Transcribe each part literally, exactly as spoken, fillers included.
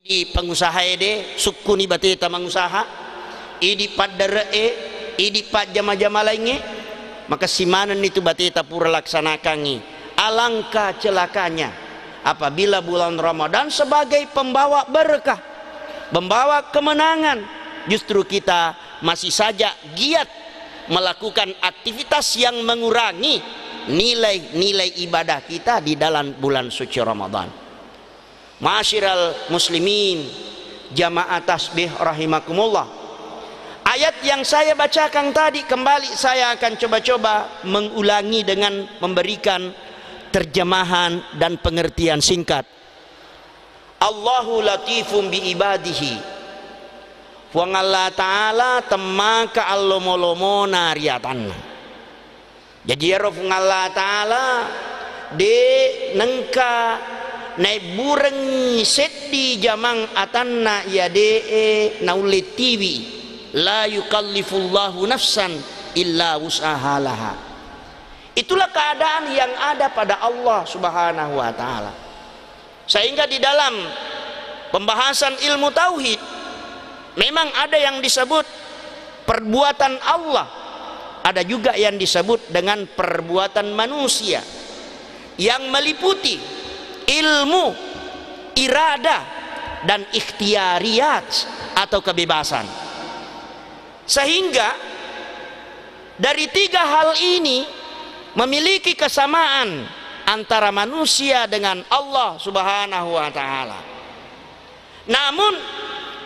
Idi pengusaha ede, sukkuni bateta mangusaha, idi paddere'e, idi pajjama-jama laingnge, makessing manenni tu bateta pura laksanakangngi. Alangkah celakanya apabila bulan Ramadan sebagai pembawa berkah, pembawa kemenangan, justru kita masih saja giat melakukan aktivitas yang mengurangi nilai-nilai ibadah kita di dalam bulan suci Ramadan. Ma'asyiral muslimin, jamaah tasbih rahimakumullah. Ayat yang saya bacakan tadi, kembali saya akan coba-coba mengulangi dengan memberikan terjemahan dan pengertian singkat. Allahu latifum bi ibadihi. Puang Allah Ta'ala temmaka allomo-lomona ri atanna. Jaji, iyaro Puang Allah Ta'ala de' nengka naebburengngi seddi jamang atanna iya de'e naulle tiwi. La yukallifullahu nafsan illa wus'aha laha. Itulah keadaan yang ada pada Allah Subhanahu wa Ta'ala. Sehingga di dalam pembahasan ilmu tauhid, memang ada yang disebut perbuatan Allah, ada juga yang disebut dengan perbuatan manusia, yang meliputi ilmu, iradah, dan ikhtiyariyat atau kebebasan. Sehingga dari tiga hal ini memiliki kesamaan antara manusia dengan Allah Subhanahu wa Ta'ala. Namun,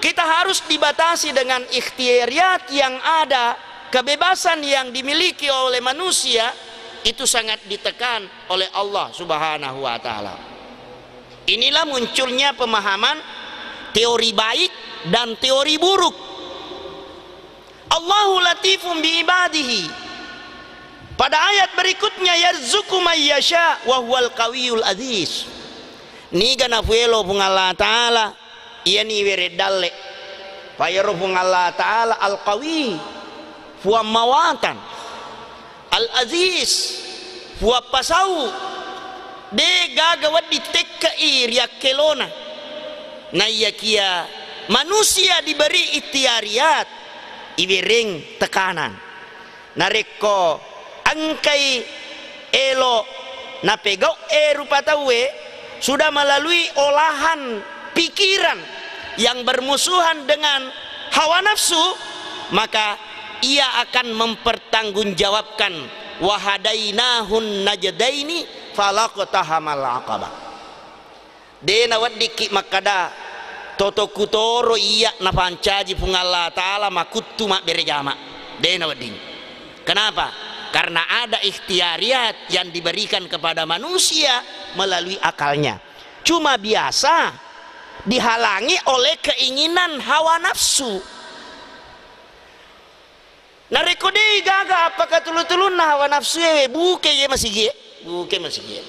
kita harus dibatasi dengan ikhtiyariyat yang ada, kebebasan yang dimiliki oleh manusia itu sangat ditekan oleh Allah Subhanahu wa Ta'ala. Inilah munculnya pemahaman teori baik dan teori buruk. Allahu latifun bi ibadihi. Pada ayat berikutnya, "Yarzuqu man yasha wa huwal qawiyul aziz." Niga nafuelo Puang Allah Ta'ala, iyani iwereng dalle. Payaro Puang Allah Ta'ala Al-Qawi, Puang mawatang. Al-Aziz, Puang pasau, de' gaga wedding tekke'i riakkelona. Naiyakia manusia diberi ikhtiyariyat, iwereng tekanan. Narekko engkai elo napegau'e rupa tauwe, sudah melalui olahan pikiran yang bermusuhan dengan hawa nafsu, maka ia akan mempertanggungjawabkan, "Wa hadainahun najdaini falaqtahamal aqabah." De' naweddikki makkada, "Totokku toro iya napancaji Puang Allah Ta'ala makuttu mabbere jama." De' nawedding. Kenapa? Karena ada ikhtiyariyat yang diberikan kepada manusia melalui akalnya. Cuma biasa dihalangi oleh keinginan hawa nafsu. Narekko de'i gaga appakatulu-tulunna hawa nafsu e, buke ye masigie, buke masigie.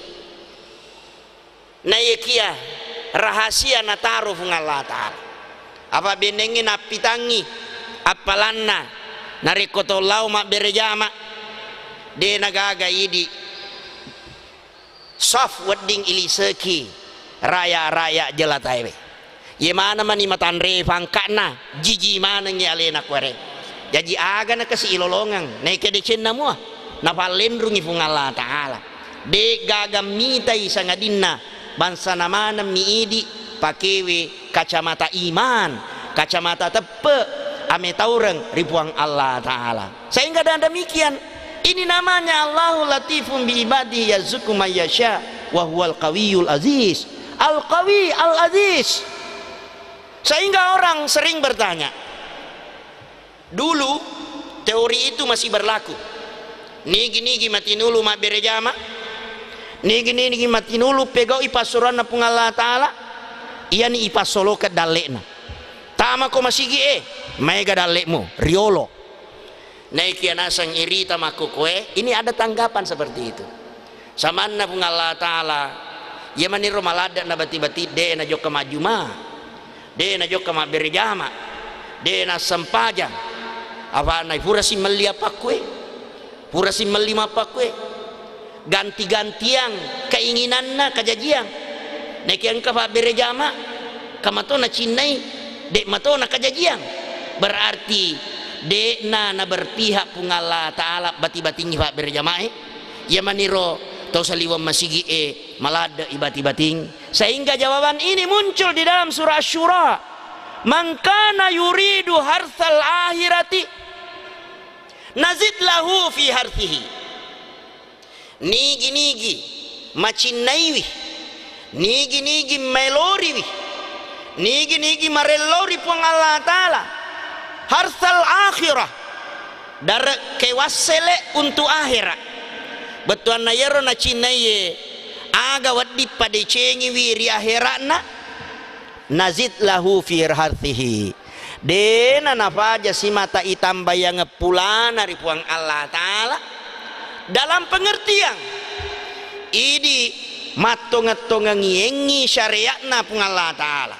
Naiyakia rahasia nataro Puang Allah Ta'ala. Apa bennengngi nappitangngi appalanna narekko tau lao mabbere jama, de' nagaga idi saf wedding iliseki raya-raya jelataewe. Ye maneng mani matanre pangka'na, jiji manengngi alena kuare. Jaji aga nakasi ilolongeng, naike decenna mua, napallenrungi Puang Allah Ta'ala. De' gaga mitai sangadinna bangsana maneng mi idi pakewe kacamata iman, kacamata teppe, ametaureng ri Puang Allah Ta'ala. Sehingga dengan demikian, ini namanya Allahu latifun bi ibadi yarzuqu man yasha wa huwal qawiyul aziz. Al-Qawi, Al-Aziz. Sehingga orang sering bertanya, dulu teori itu masih berlaku. Nigi-nigi matinulu mabbere jama, nigi-nigi matinulu pegau'i passuroanna Puang Allah Ta'ala, iyani ipassolokeng dalle'na. Tamako masigi e, maega dalle'mu, riolo. Naikia naseng irita makkukkue, ini ada tanggapan seperti itu. Samanna Puang Allah Ta'ala, iya maniro maladde' nabati-bati, de' najokka majjuma, de' najokka mabbere jama, de' nassempajang. Apanna pura simmelli appakkue, pura simmelli mappakkue. Ganti-gantiang keinginanna kajajiang. Naikia engka pabbere jama, Engka mato nacinnai, de' mato nakajajiang. Berarti de'na naberpihak Puang Allah Ta'ala bati-batingngi, Pak, berjamaah. Iya maniro tau saliweng masigi'e maladde'i bati-bating. Sehingga jawaban ini muncul di dalam surah Asy-Syura. "Man kana yuridu hartsal akhirati nazid lahu fi hartsihi." Nigi-nigi macinnaiwi, nigi-nigi maeloriwi, nigi-nigi marellori Puang Allah Ta'ala, hartsal akhirah, dare' kewassele' untuk akhirat. Bettuanna iyaro nacinnaiye aga wedding padecengiwi ri akhiratna, nazid lahu fi hartsihi. De'na nafaja simata itambayangeng pulana ri Puang Allah Ta'ala. Dalam pengertian, idi mattongeng-tongengiengngi syariatna Puang Allah Ta'ala.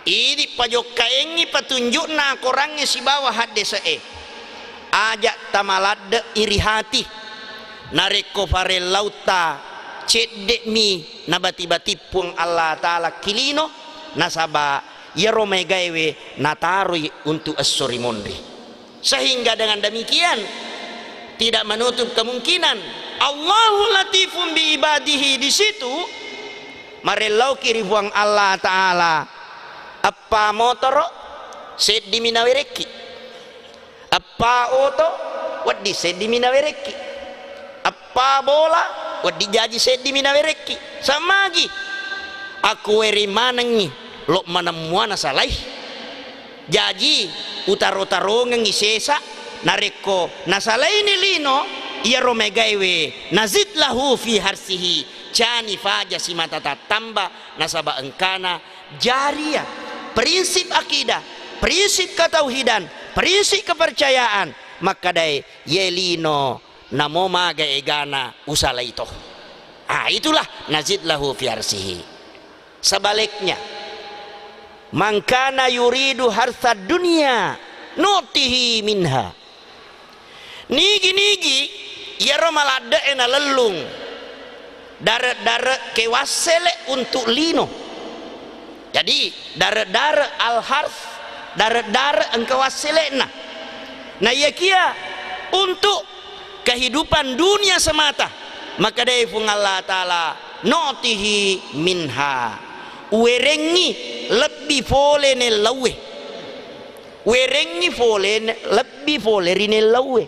Idi pajokkaengngi petunjukna Korangnge sibawa haddese'e. Aja' tamaladde'i ri hati. Narekko farellauta cedde'mi nabati-bati Puang Allah Ta'ala ki lino, nasaba' iyaro maegaewe nataroi untuk esso ri munri. Sehingga dengan demikian, tidak menutup kemungkinan Allahu latifun bi ibadihi, di situ marellauki ri Puang Allah Ta'ala. Eppa motoro, seddimi nawerekki. Eppa oto, wedding seddimi nawerekki. Eppa bola, wedding jaji seddimi nawerekki. Sammagi, akuwereng manengngi, lo' maneng mua nasalai. Jaji, utaro-tarongengngi sesa, narekko nasalaini lino, iyaro maegaewe, nazid lahu fi hartsihi, cani faja simata tattamba, nasaba' engkana jariyah, prinsip akidah, prinsip ketauhidan, prinsip kepercayaan, makkadae, iye lino namo maga egana usalai to. Ah, itulah nazid lahu fi hartsihi. Sebaliknya, man kana yuridu hartsad dunya nu'tihi minha. Nigi-nigi iyaro maladde'e nalellung dare'-dare' kewassele' untuk lino. Jadi, dare'-dare' al-harts, dare'-dare' engka wassele'na. Naiyakia untuk kehidupan dunia semata, makkadai Puang Allah Ta'ala, nu'tihi minha. Uwerengngi lebbi fole nellauwe. Werengngi fole ne-, lebbi fole ri nellauwe.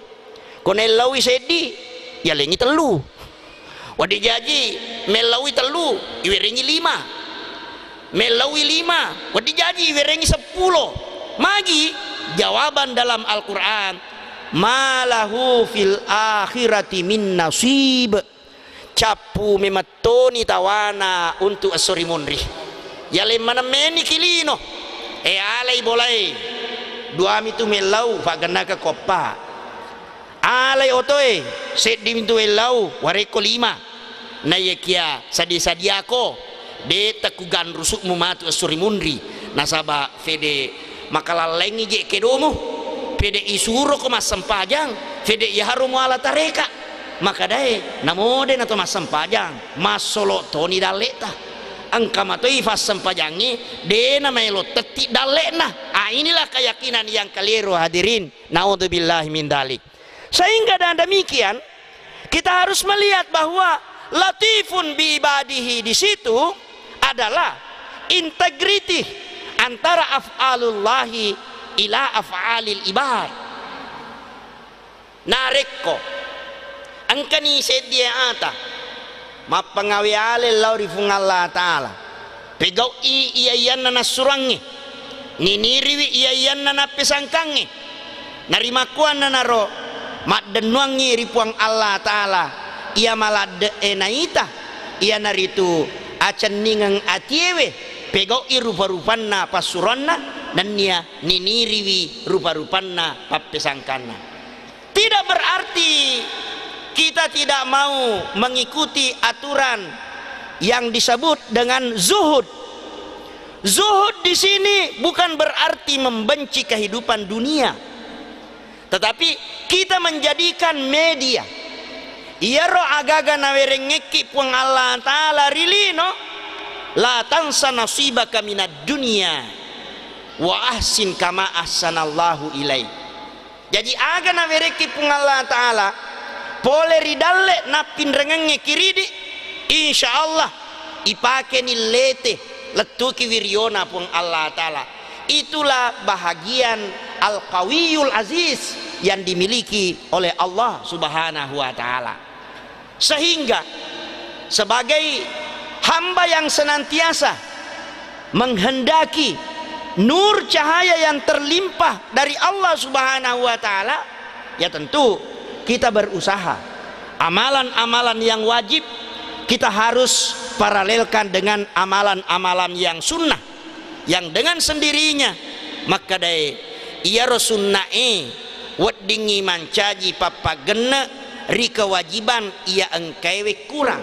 Ko nellaui seddi, yalengngi tellu. Wedding jaji mellaui tellu, iwerengngi lima. Mellaui lima, wedding jaji iwerengngi seppulo. Magi? Jawaban dalam Al-Quran, "Ma lahu fil akhirati min nasib." Cappu memettoni tawana untuk esso ri munri. Yaleng maneng meni ki lino. E, alai bolae. Duami tu mellau, faggennaka koppa. Alai otoe, seddi mintu ellau, warekko lima. Naiyakia sadi-sadiako, de' takuganrusukmu matu esso ri munri, nasaba fede makalallaingngi je kedomu, fede isuroko massempajang, fede iyaharo muala tareka. Makadae, namode nato massempajang, massolo toni dalle'ta. Engka matoi fassempajangnge, de' namaelo tetti dalle'na. Ah, inilah keyakinan yang keliru, hadirin. Naudzubillahi min dalik. Sehingga dengan demikian, kita harus melihat bahwa latifun bi ibadihi di situ adalah integriti antara af'alullahi ila af'alil ibad. Narekko engkani seddie ata mappangawe ale lao ri Puang Allah Ta'ala, pegau'i iya-iyanna nassuroangnge, niniriwi iya-iyanna nappesangkangnge. Narimakkuannanaro maddennuangngi ri Puang Allah Ta'ala iya maladde'e naita, iyanaritu acenningeng atiewe, pegau'i rupa-rupanna passuroanna, nennia niniriwi rupa-rupanna pappesangkanna. Tidak berarti kita tidak mau mengikuti aturan yang disebut dengan zuhud. Zuhud di sini bukan berarti membenci kehidupan dunia, tetapi kita menjadikan media. Iyaro agaga nawerengngekki Puang Allah Ta'ala ri lino, La tansa nasibaka minad dunya wa ahsin kama ahsanallahu ilaik. Jaji, aga nawerekki Puang Allah Ta'ala, pole ri dalle nappinrengengnge kiridi, insya Allah ipakeni lete, lettuki wiriyona Puang Allah Ta'ala. Itulah bahagian Al-Qawiyul Aziz yang dimiliki oleh Allah Subhanahu wa Ta'ala. Sehingga sebagai hamba yang senantiasa menghendaki nur cahaya yang terlimpah dari Allah Subhanahu wa Ta'ala, ya tentu kita berusaha. Amalan-amalan yang wajib kita harus paralelkan dengan amalan-amalan yang sunnah, yang dengan sendirinya makkedae iyaro sunnae weddingngi mancaji pappaggenne ri kewajiban iya engkaewe kurang.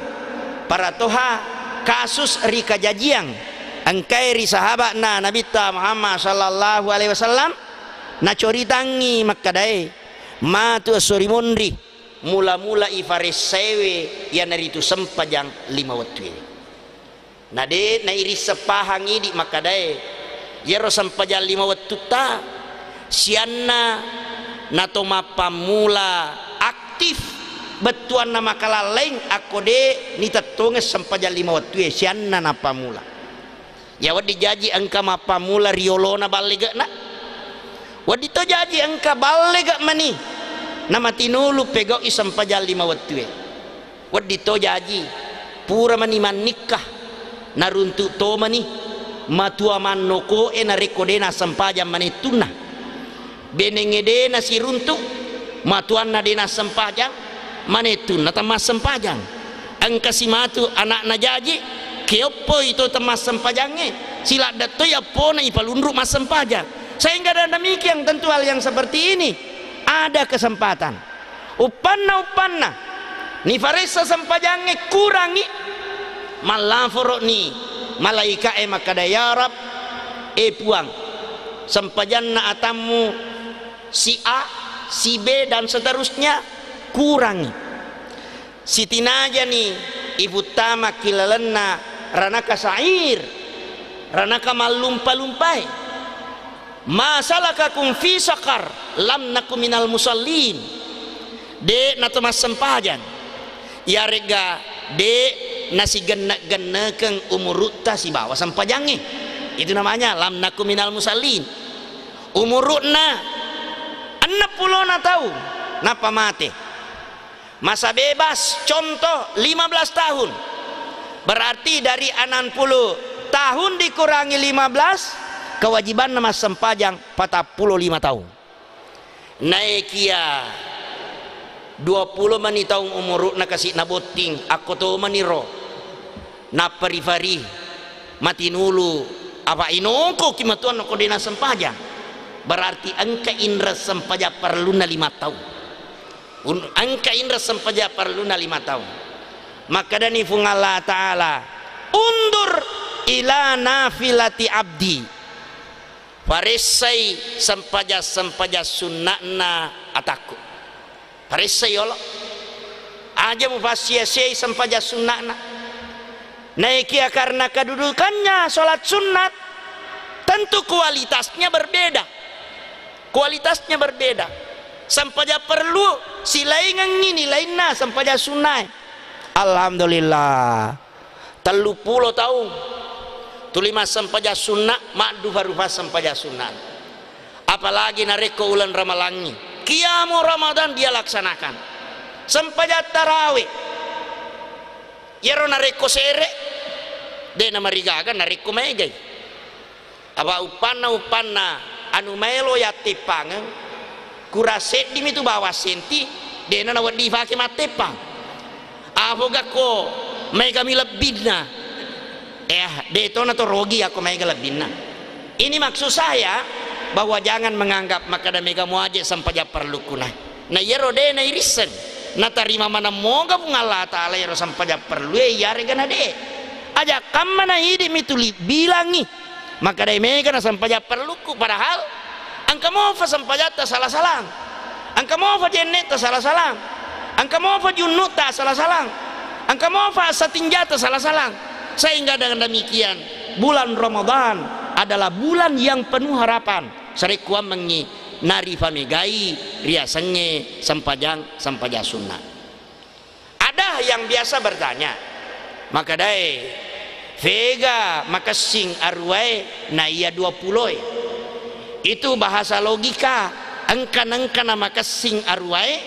Paratoha kasus ri kajajiang engkae ri sahaba'na Nabitta Muhammad sallallahu alaihi wasallam, nacoritangngi makkedae, matu esso ri monri mula-mula ifaressaiwe iyanaritu sempajang lima wettue. Na de' nairisseng pahang idi' makkadae, iyaro sempajang lima wettutta sianna nato mappammula aktif bettuanna makalallaing akko de' nitettongeng sempajang lima wettue, sianna nappammula. Ya, wedding jaji engka mappammula riolona ballege'na. Wedding to jaji engka ballega' mani namatinulu pegau'i sempajang lima wettue. Wedding to jaji pura mani mannikka, naruntu' to mani matua mannoko'e narekko de' nassempajang manettunna. Benengnge de' nasiruntu', matuanna de' nassempajang, manettunna temmassempajang. Engka simatu ana'na jaji, keoppoi to temmassempajangnge, siladde' toi appona ipalunru' massempajang. Sehingga dengan demikian tentu hal yang seperti ini ada kesempatan. Uppanna-uppanna nifaressa sempajangnge kurangi, mallaforo'ni malaika'e makkada, "Ya Rabb, e Puang, sempajanna atammu si A, si B, dan seterusnya kurangi." Sitinajani ifuttama ki lalenna ranaka sa'ir, ranaka mallumpa-lumpae. "Ma salakakum fi saqar?" "Lam naku minal musallin." De' nato massempajang. Iyaregga de' nasigenne'-gennekeng umuru'ta sibawa sempajangnge. Itu namanya lam naku minal musallin. Umuru'na enneng pulona taung, nappa mate. Masa bebas, contoh, lima belas tahun. Berarti dari enam puluh tahun dikurangi lima belas, kewajibanna massempajang patappulo lima taung. Naekia dua puluh mani taung umuru'na kasi'na botting, akko to mani ro. Nappa rifari matinulu, apa inongkoki matuanna ko de' nassempajang. Berarti engka inreng sempajang parellunna lima taung. Un-, engka inreng sempajang parellunna lima taung. Makkedani Fuang Allah Ta'ala, "Undur ila nafilati abdi." Faressai sempajang-sempajang sunna'na atakku. Faressai yolo. Aja mufassia-siai sempajang sunna'na. Naekia karena kedudukannya sholat sunnat, tentu kualitasnya berbeda. Kualitasnya berbeda. Sempajang parellu silaingengngi nilainna sempajang sunnae. Alhamdulillah. Telluppulo taung tuli massempajang sunna, maddufa-rufa sempajang sunna. Apalagi narekko uleng Ramalangngi, qiyamu Ramadan dia laksanakan. Sempajang tarawe. Iyaro narekko sere, de' namarigaga narekko maegai. Apa uppanna-uppanna anu maelo yatteppangeng, kurang seddimi tu bawang senti, de'na nawedding ifake matteppang. Apogakko maegami lebbinna? Eh, de' to nato rogi akko maega lebbinna. Ini maksud saya bahwa jangan menganggap makkada mega muaje sempajang parellukkuna. Na iyaro de' nairisseng, natarima maneng moga Puang Allah Ta'ala iyaro sempajang parellue, iyarega na de'. Aja' kamma na idi'mi tuli bilangngi. Makkadai mega na sempajang parellukku, padahal engka mofa sempajatta sala-salang, engka mofa jenne'ta sala-salang, engka mofa junnu'ta sala-salang, engka mofa assatinjata sala-salang. Sehingga dengan demikian, bulan Ramadan adalah bulan yang penuh harapan. Sarekkuammengngi narifamegai riasengnge sempajang, sempajang sunnah. Ada yang biasa bertanya, makadae, fega makessing aruwae na iya dua puloe? Itu bahasa logika, engka-nengka na makessing aruwae,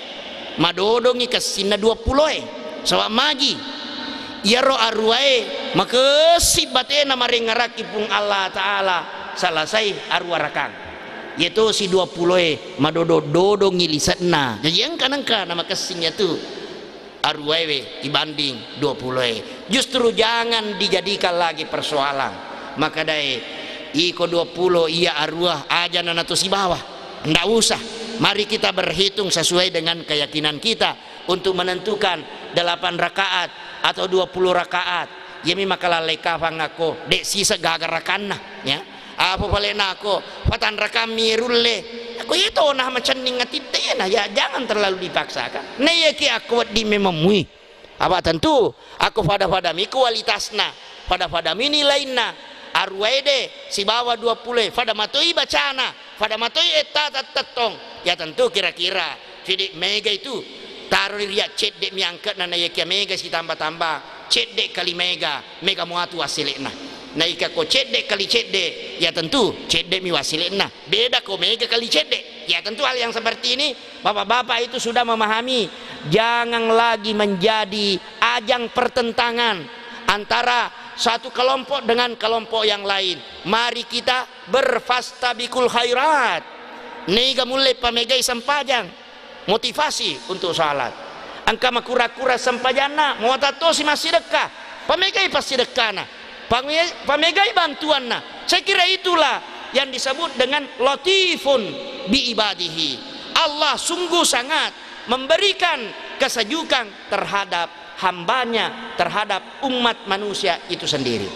madodongi kessinna dua puloe. Saba' magi, iyaro aruwae makessing batena marengngerakki Puang Allah Ta'ala, salasai aruwa rakang. Iyatosi dua puloe madodong-dodongi lise'na. Jaji engka-nengka na makessing iyatu aruwaewe ibanding dua puloe. Justru jangan dijadikan lagi persoalan. Makadae, iko dua pulo iya aruwa, aja' na nato sibawa. Ndak usah. Mari kita berhitung sesuai dengan keyakinan kita untuk menentukan delapan rakaat atau dua puluh rakaat. Iyami makalallai kafang akko, de' siseng gaga rakanna, ya. Apa pale nako, fatanrakammi rulle. Akko iyato nah macenning atitte iyana, ya, jangan terlalu dipaksakan. Naiyaki akko wedding memeng mui. Apa tentu, akko fada-fadami kualitasna, fada-fadami nilainna, aruwaede sibawa dua puloe, fada matoi bacana, fada matoi ettata tettong. Ya tentu kira-kira, fidi mega itu, taroi ria cedde' mi angke'na, naiyaki mega sitamba-tamba, cedde' kali mega, mega muatu wassele'na. Naika ko cedde' kali cedde', ya tentu cedde' mi wassele'na. Beda ko mega kali cedde'. Ya tentu hal yang seperti ini, bapak-bapak itu sudah memahami, jangan lagi menjadi ajang pertentangan antara satu kelompok dengan kelompok yang lain. Mari kita berfastabikul khairat. Niga mulle pamegai sempajang, motivasi untuk salat. Engka makura-kura sempajanna, muatattosi massidekka, pamegai passidekkana. Pame-, pamegai bantuanna. Saya kira itulah yang disebut dengan latifun bi ibadihi. Allah sungguh sangat memberikan kesejukan terhadap hambanya, terhadap umat manusia itu sendiri.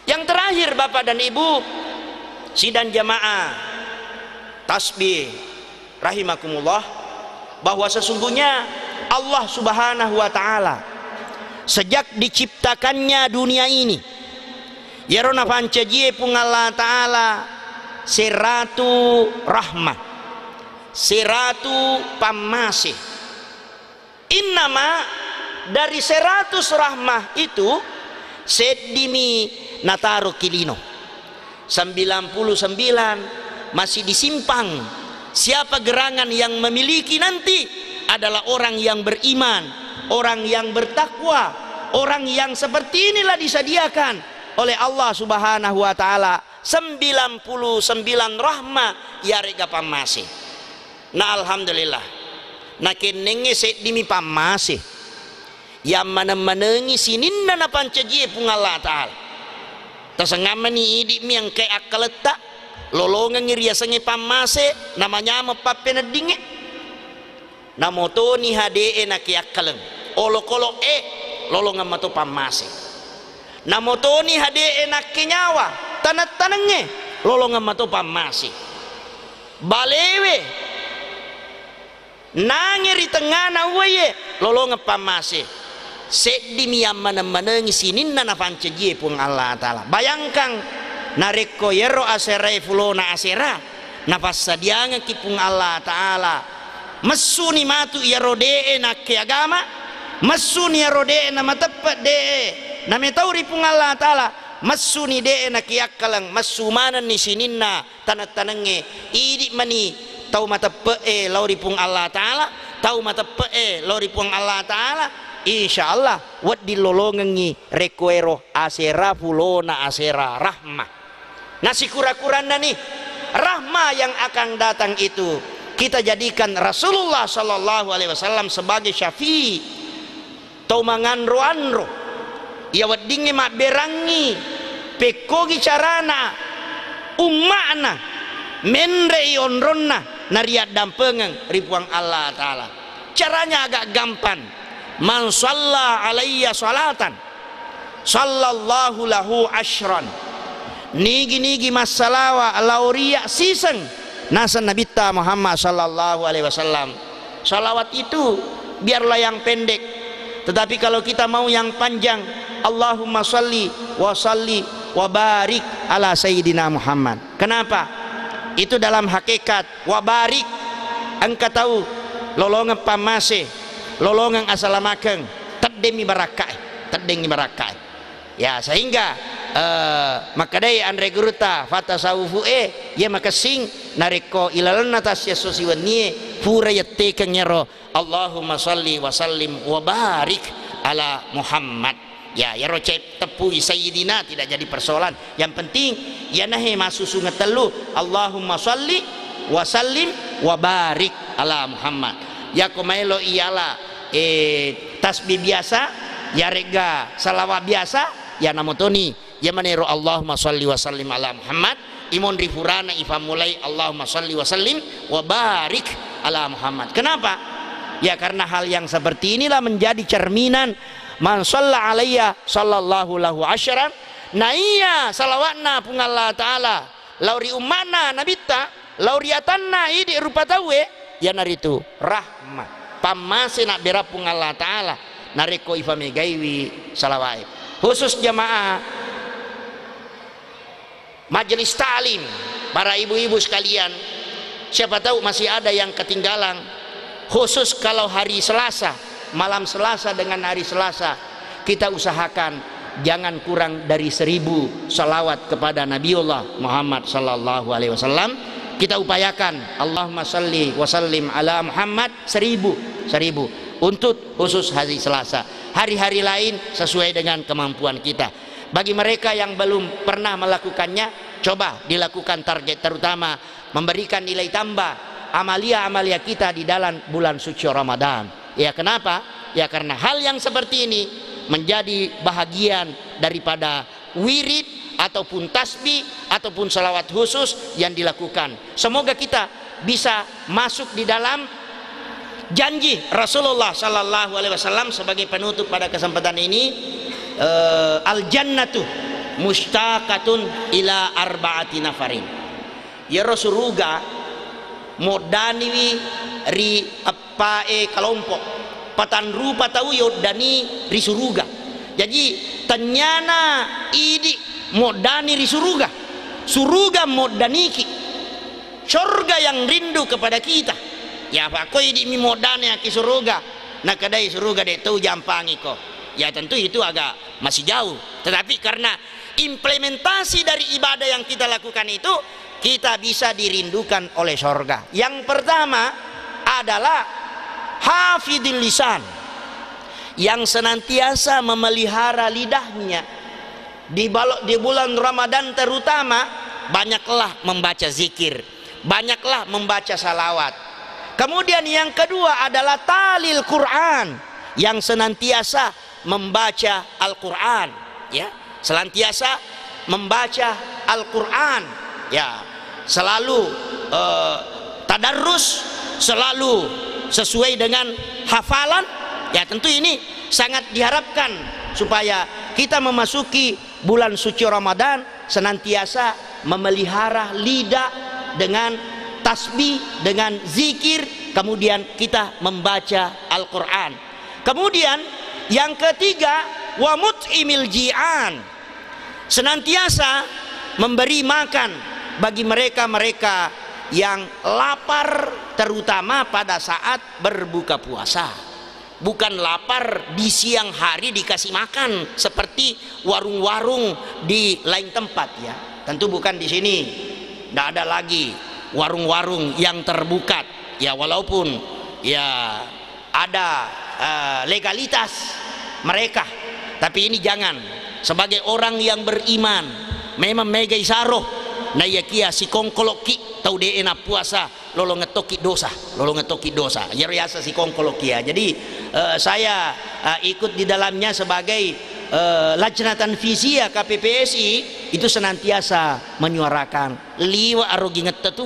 Yang terakhir, Bapak dan Ibu, sidang jamaah tasbih rahimakumullah, bahwa sesungguhnya Allah Subhanahu wa Ta'ala sejak diciptakannya dunia ini, iyaro napancajie Puang Allah Ta'ala seratu rahmah, seratu pammase. Innama dari seratus rahmah itu seddimi nataro ki lino. Sembilan puluh sembilan masih disimpan. Siapa gerangan yang memiliki nanti adalah orang yang beriman, orang yang bertakwa, orang yang seperti inilah disediakan oleh Allah Subhanahu wa Ta'ala, sembilan puluh sembilan rahmah iyarega pammase. Na alhamdulillah, nakennengnge seddimi pammase. Yammaneng-manengi sininna napancajie Puang Allah Ta'ala. Tasengammani idi'mi engkae akkaletta, lolongengngi riasengnge pammase, namanyameng pappeneddingnge. Namotoni hade'e nakiakkaleng, olokolo'e, lolongeng mato pammase. Namotoni hade'e nakkenyawa, taneng-tanengnge, lolongeng mato pammase. Balewe, nange ri tengngana uwaie, lolongeng pammase. Seddimi yammaneng-manengi sininna napancajie Puang Allah Ta'ala. Bayangkang, narekko yero aserae fulona asera, napassadiangekki Puang Allah Ta'ala, messuni matu iyaro de'e nakke agama, messuni iyaro de'e namateppe' de'e nametau ri Puang Allah Ta'ala, messuni de'e nakiakkaleng, messu manenni sininna taneng-tanengnge, idi' mani tau mateppe'e lao ri Puang Allah Ta'ala, tau mateppe'e lao ri Puang Allah Ta'ala, insya Allah wedding lolongengngi rekko ero asera fulona asera rahmah. Nasikura-kuranna ni rahmah yang akan datang itu, kita jadikan Rasulullah sallallahu alaihi wasallam sebagai syafi'. Tau manganro-anro, iya weddingnge mabberangngi pekkogi carana umma'na menre'i onronna nariaddampengeng ri Puang Allah Ta'ala. Caranya agak gampang. "Man shalla alayya shalatan, shallallahu lahu ashran." Nigi-nigi massalawa lao ri iyya siseng, naseng Nabitta Muhammad sallallahu alaihi wasallam. Salawat itu biarlah yang pendek, tetapi kalau kita mau yang panjang, Allahumma shalli wa salli wa barik ala Sayyidina Muhammad. Kenapa? Itu dalam hakikat wa barik, engka tau lolongeng pammase, lolongeng asalamakeng, teddemmi barakkae, teddemmi barakkae. Ya, sehingga, eh, makkedai anre gurutta fatasawufu e, iya makessing narekko ilalenna tassiesso siwennie pura yettekeng ero Allahumma shalli wa sallim wa barik ala Muhammad. Ya, iyaro ce-, teppui Sayyidina tidak jadi persoalan. Yang penting, iyanahe massusungeng tellu, Allahumma shalli wa sallim wa barik ala Muhammad. Yako maelo iyala, eh, tasbih biasa, yaregga salawat biasa, ya namotoni. Iya manero Allahumma shalli wa sallim ala Muhammad, imonri furana ifammulai Allahumma shalli wa sallim wa barik ala Muhammad. Kenapa? Ya, karena hal yang seperti inilah menjadi cerminan man shalla alayya sallallahu lahu asyran. Naiya salawatna Puang Allah Ta'ala lao ri umma'na Nabitta, lao ri atanna idi rupa tauwe, iyanaritu rahmat, pammase nabbera Puang Allah Ta'ala narekko ifamegaiwi salawae. Khusus jamaah majelis ta'lim, para ibu-ibu sekalian, siapa tahu masih ada yang ketinggalan, khusus kalau hari Selasa, malam Selasa dengan hari Selasa, kita usahakan jangan kurang dari seribu salawat kepada Nabiullah Muhammad sallallahu alaihi wasallam. Kita upayakan, Allahumma salli wa sallim ala Muhammad, seribu, seribu. Untuk khusus hari Selasa. Hari-hari lain sesuai dengan kemampuan kita. Bagi mereka yang belum pernah melakukannya, coba dilakukan target, terutama memberikan nilai tambah amalia-amalia kita di dalam bulan suci Ramadan. Ya, kenapa? Ya, karena hal yang seperti ini menjadi bahagian daripada wirid ataupun tasbih ataupun salawat khusus yang dilakukan. Semoga kita bisa masuk di dalam janji Rasulullah sallallahu alaihi wasallam sebagai penutup pada kesempatan ini, eh, "Al jannatu mustaqatun ila arba'ati nafarin." Iyaro suruga moddaniwi ri eppae kalompo. Patanrupa tau yoddani ri suruga. Jaji, tennyana idi moddani ri suruga. Suruga moddaniki. Sorga yang rindu kepada kita. Ya, apa ko idi'mi moddani ki suruga, nakadai suruga de' tau jampangiko. Ya, tentu itu agak masih jauh. Tetapi karena implementasi dari ibadah yang kita lakukan itu, kita bisa dirindukan oleh sorga. Yang pertama adalah hafidil lisan, yang senantiasa memelihara lidahnya. Di balo-, di bulan Ramadan terutama, banyaklah membaca zikir, banyaklah membaca salawat. Kemudian yang kedua adalah talil Quran, yang senantiasa membaca Al-Quran, ya, senantiasa membaca Al-Quran, ya, selalu, eh, tadarrus, selalu sesuai dengan hafalan, ya, tentu ini sangat diharapkan supaya kita memasuki bulan suci Ramadan senantiasa memelihara lidah dengan tasbih, dengan zikir, kemudian kita membaca Al-Quran. Kemudian yang ketiga, wa mut'imil ji'an, senantiasa memberi makan bagi mereka-mereka yang lapar, terutama pada saat berbuka puasa. Bukan lapar di siang hari dikasih makan seperti warung-warung di lain tempat, ya. Tentu bukan di sini. Nggak ada lagi warung-warung yang terbuka. Ya, walaupun, ya, ada, eh, legalitas mereka, tapi ini jangan. Sebagai orang yang beriman, memang mega isaro. Naiyakia sikongkolokki tau de'e nappuasa, lolongeng tokki dosa, lolongeng tokki dosa. Iyaro yaseng sikongkoloki, ya. Jadi, eh, saya, eh, ikut di dalamnya sebagai, eh, lajnah tanfiziyah K P P S I, itu senantiasa menyuarakan, liwa arogingetta tu,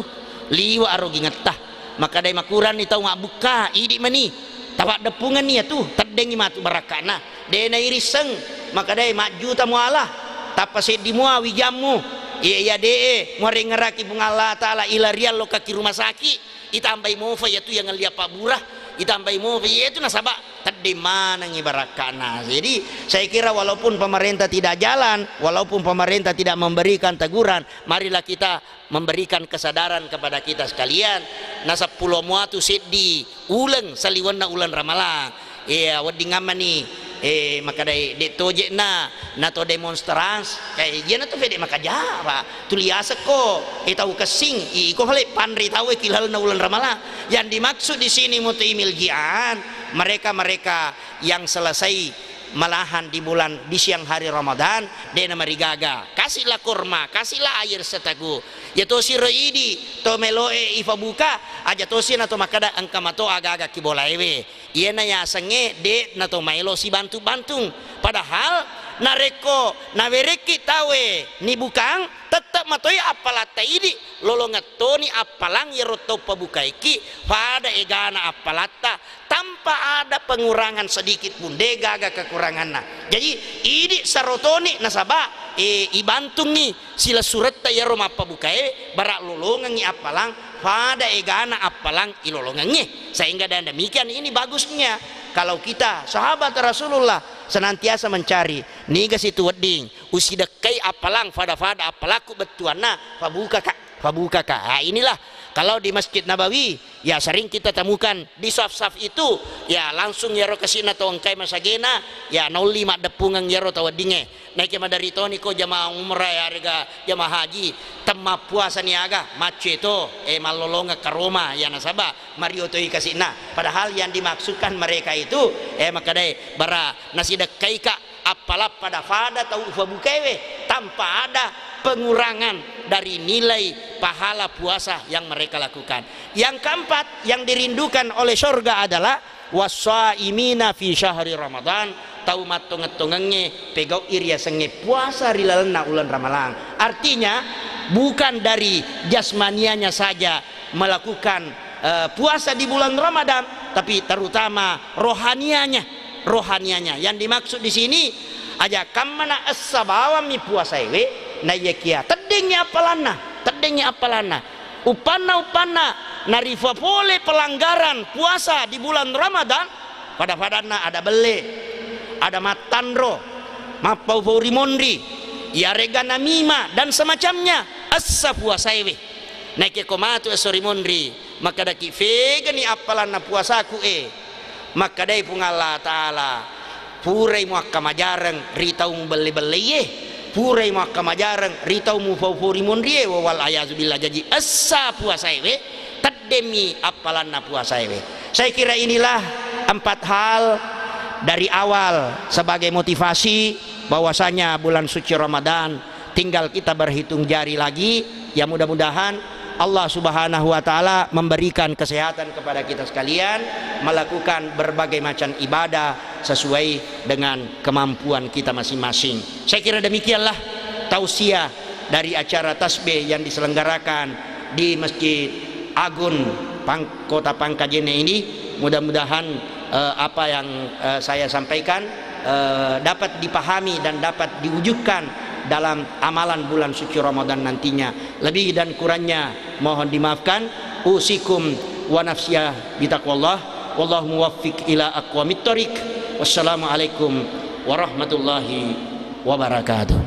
liwa arogingetta. Makadai makuranni tau mabbukka, idi mani. Tapaddeppungenni ya tu, teddengngi matu barakka'na. De' nairisseng, makadai majjuta muala, tappa seddi mua wijammu. Iya, iya de'e muarengngeraki Puang Allah Ta'ala, ila riallo kaki rumah sakit, itambai mofa iya tu yang ngellia pabbura, itambai mofa iya tu nasaba Tedding manengngi barakka'na. Jadi, saya kira walaupun pemerintah tidak jalan, walaupun pemerintah tidak memberikan teguran, marilah kita memberikan kesadaran kepada kita sekalian. Na seppulo muatu seddi uleng saliwenna uleng Ramalang. Iya, wedding ammani, eh, makadai de' toje'na, na to demonstrans, eh, iya na to fede makajara. Tuli asekko, eh, tau kessing, iko fale panri tau, eh, kilalna uleng Ramalang. Yang dimaksud di sini mutaimil ji'an, mereka-mereka yang selesai malahan di bulan, di siang hari Ramadan, de' namarigaga. Kasihlah kurma, kasihlah air seteguk. Ya tosi ro idi, to meloe ifabuka, aja tosi na to makkada engka mato aga-aga ki bolaewe. Iyana yasengnge de' na to maelo sibantu-bantung. Padahal narekko nawerekki taue nibukang, tette' matoi appalatta idi, lolongeng toni appalang iyaro tau pabukaiki, pada egana appalatta, tanpa ada pengurangan sedikit pun, de' gaga kekuranganna. Jadi, idi sarotoni nasaba, eh, ibantungngi silessuretta iyaro mappabukae, bara lolongengngi appalang, pada egana appalang ilolongengnge. Sehingga dengan demikian ini bagusnya kalau kita sahabat Rasulullah senantiasa mencari, niga situ wedding usidekkai appalang, fada-fada appalakku bettuanna, fabukaka, fabukaka. Ah, inilah kalau di Masjid Nabawi, ya, sering kita temukan di saf-saf itu, ya, langsung iyaro kasi'na tau engkai masagena, ya, naolli maddeppungeng iyaro tau weddingnge. Naike maderri toni ko jamaah umrah, ya, rega jamaah haji, temmappuasa niaga, macce to, eh, mallolongeng karoma, ya, nasaba mario toi kasi'na. Padahal yang dimaksudkan mereka itu, eh, makkadai bara nasidekkaika appalang fada-fada tau ufabukaewe tanpa ada pengurangan dari nilai pahala puasa yang mereka lakukan. Yang keempat, yang dirindukan oleh surga adalah wassaimina fi syahri Ramadan, tau mattongeng-tongengnge pegau'i riasengnge puasa ri lalenna uleng Ramalang. Artinya, bukan dari jasmanianya saja melakukan, eh, puasa di bulan Ramadan, tapi terutama rohanianya, rohanianya. Yang dimaksud di sini, aja kammana essa bawammi puasaewe, naiyakia teddengngi appalanna, teddengngi appalanna. Uppanna, uppanna, narifa pole pelanggaran puasa di bulan Ramadan, pada-padanna ada belle, ada mattanro, mappau-pau ri monri, iyarega namima dan semacamnya, essa puasaewe. Naike ko matu esso ri monri, makkadaki, fegani appalanna puasaku e? Makkadai Puang Allah Ta'ala, purai muakkamajareng ri tau mubelle-belleie, purai muakkamajareng ri tau mufau-fau ri monrie, wa wal ayazu billah. Jaji essa puasaewe, teddemmi appalanna puasaewe. Saya kira inilah empat hal dari awal sebagai motivasi bahwasanya bulan suci Ramadan tinggal kita berhitung jari lagi. Ya, mudah-mudahan Allah Subhanahu wa Ta'ala memberikan kesehatan kepada kita sekalian, melakukan berbagai macam ibadah sesuai dengan kemampuan kita masing-masing. Saya kira demikianlah tausiah dari acara tasbih yang diselenggarakan di Masjid Agung Pang-, Kota Pangkajene ini. Mudah-mudahan, eh, apa yang, eh, saya sampaikan, eh, dapat dipahami dan dapat diwujudkan dalam amalan bulan suci Ramadan nantinya. Lebih dan kurangnya mohon dimaafkan. Usikum wa nafsiya bitaqwallah. Wallahu muwaffiq ila aqwamit thariq. Wassalamualaikum warahmatullahi wabarakatuh.